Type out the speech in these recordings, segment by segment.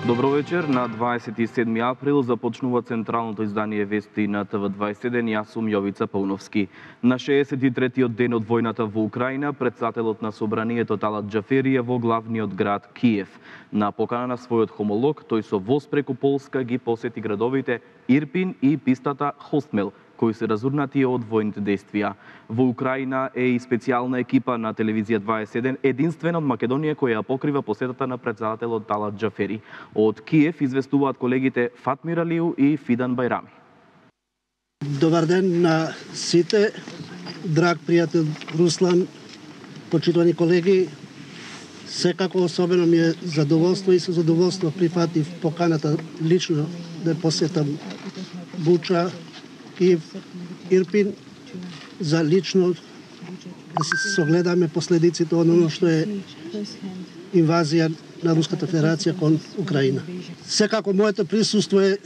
Добро вечер. На 27 април започнува централното издание вести на ТВ21. Јас сум Јовица Пауновски. На 63-тиот ден од војната во Украина, председателот на собранието Талат Џафери е во главниот град Киев. На покана на својот хомолог, тој со воз преку Полска ги посети градовите Ирпин и пистата Хостмел, кои се разурнати од војните действија. Во Украина е и специјална екипа на телевизија 21, единствена од Македонија која ја покрива посетата на председателот Талат Џафери. Од Киев известуваат колегите Фатмир Алиу и Фидан Бајрами. Добар ден на сите, драг пријател Руслан, почитувани колеги. Секако особено ми е задоволство и со задоволство прифатив поканата лично да посетам Буча, Киев, Ирпин, за лично да се согледаме последиците од оно што е инвазија на Руската Федерација кон Украина. Секако моето присуство е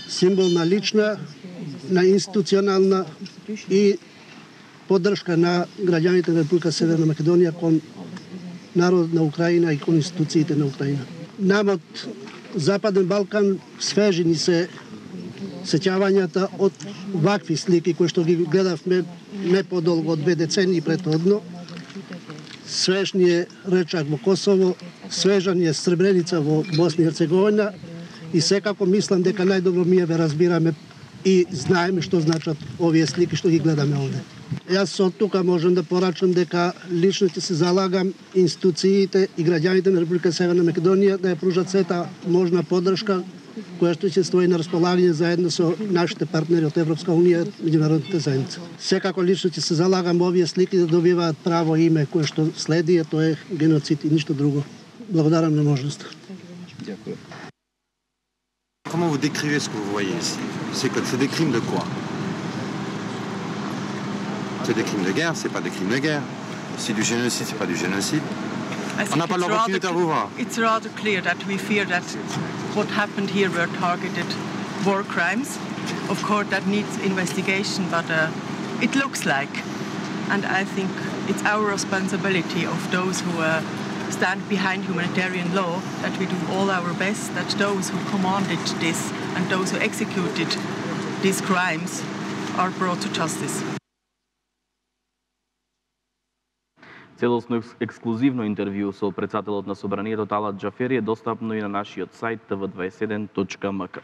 символ на лична, на институционална и поддршка на граѓаните на Република Северна Македонија кон народот на Украина и кон институциите на Украина. Нам од Западен Балкан свежи ни се сеќавањата од вакви слики кои што ги гледавме не подолго од 2 децении претhodно. Свеж ни е Речак во Косово, свежа ни е Сребреница во Босна и Херцеговина и секако мислам дека најдобро ми ве разбираме и знаеме што значат овие слики што ги гледаме овде. Јас од тука можам да порачам дека лично ќе се залагам институциите и граѓаните на Република Северна Македонија да ја пружат сета можна поддршка која што ќе стои на располагање заедно со нашите партнери од Европска унија и меѓународните заедница. Секако лично ќе се залагам овие слики да добиваат право име кое што следи, тоа е геноцид и ништо друго. Благодарам на можноста. Дякую. Comment vous décrivez ce que vous voyez ici? C'est des crimes de quoi? C'est des crimes de guerre, c'est pas des crimes de guerre. C'est du génocide, c'est pas du génocide. On n'a pas l'opportunité à vous voir. It's rather clear that we fear that what happened here were targeted war crimes. Of course, that needs investigation, but it looks like. And I think it's our responsibility of those who stand behind humanitarian law that we do all our best, that those who commanded this and those who executed these crimes are brought to justice. Целосно ексклузивно интервју со председателот на собранието Талат Џафери е достапно и на нашиот сајт tv21.mk.